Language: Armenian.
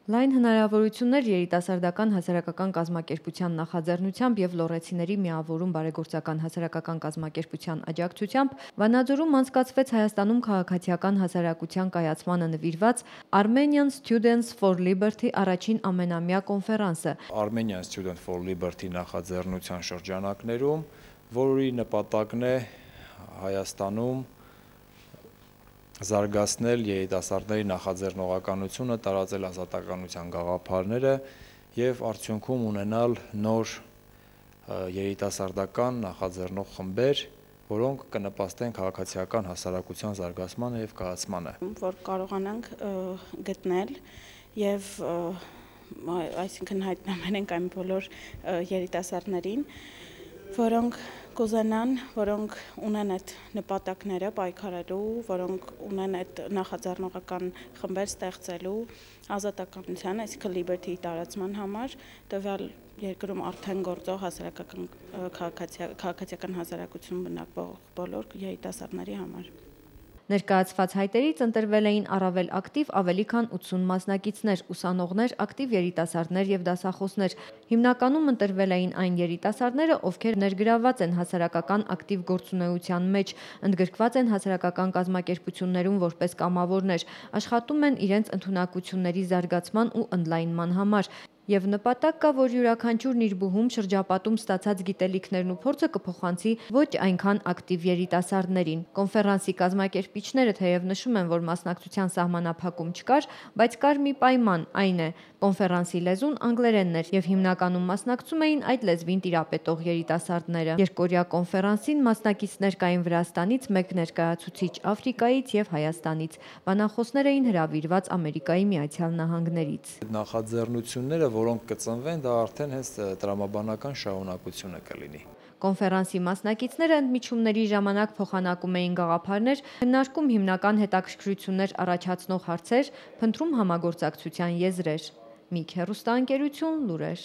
Լայն հնարավորություններ երիտասարդական հասարակական կազմակերպության նախաձեռնությամբ և լոռեցիների միավորում բարեգործական հասարակական կազմակերպության աջակցությամբ Վանաձորում անցկացվեց Հայաստանում քաղաքացիական հասարակության կայացմանը նվիրված Armenian Students for Liberty առաջին ամենամյա կոնֆերանսը։ Armenian Students for Liberty նախաձեռնության շրջանակներում, որի նպատակն է Հայաստանում զարգացնել երիտասարդների նախաձեռնողականությունը, տարածել ազատականության գաղափարները և արդյունքում ունենալ նոր երիտասարդական նախաձեռնող խմբեր, որոնք կնպաստեն քաղաքացիական հասարակության զարգացմանը և կայացմանը։ Որ կարողանանք գտնել և հայտնաբերենք այն բոլոր երիտասարդներին, որոնք կուզենան, որոնք ունեն այդ նպատակները պայքարելու, որոնք ունեն այդ նախաձեռնողական խմբեր ստեղծելու ազատականության, այսինքն liberty-ի տարածման համար, տվյալ երկրում արդեն գործող քաղաքացիական հասարակություն բնակվող բոլոր երիտասարդների համար։ Ներկայացված հայտերից ընտրվել էին առավել ակտիվ ավելի քան 80 մասնակիցներ, ուսանողներ, ակտիվ երիտասարդներ և դասախոսներ։ Հիմնականում ընտրվել էին այն երիտասարդները, ովքեր ներգրավված են հասարակական ակտիվ գործունեության մեջ, ընդգրկված են հասարակական կազմակերպություններում որպես կամավորներ, աշխատում են իրենց ընդունակությունների զարգացման ու ընդլայնման համար։ Եվ նպատակ կա, որ յուրաքանչյուրն իր բուհում շրջապատում ստացած գիտելիքներն ու փորձը կփոխանցի ոչ այնքան ակտիվ երիտասարդներին։ Կոնֆերանսի կազմակերպիչները թեև նշում են, որ մասնակցության սահմանափակում չկար, բայց կար մի պայման, այն է՝ կոնֆերանսի լեզուն անգլերենն էր և հիմնականում մասնակցում էին այդ լեզվին տիրապետող երիտասարդները։ Երկօրյա կոնֆերանսին մասնակիցներ կային Վրաստանից, մեկ ներկայացուցիչ Աֆրիկայից և Հայաստանից։ Բանախոսներ էին հրավիրված Ամերիկայի Միացյալ Նահանգներից։ Նախաձեռնությունները, որոնք կծնվեն, դա արդեն հենց տրամաբանական շարունակությունը կլինի։ Կոնֆերանսի մասնակիցները ընդմիջումների ժամանակ փոխանակում էին գաղափարներ, քննարկում հիմնական հետաքրքրություններ առաջացնող հարցեր, փնտրում համագործակցության եզրեր։ Միք հեռուստաընկերություն, լուրեր։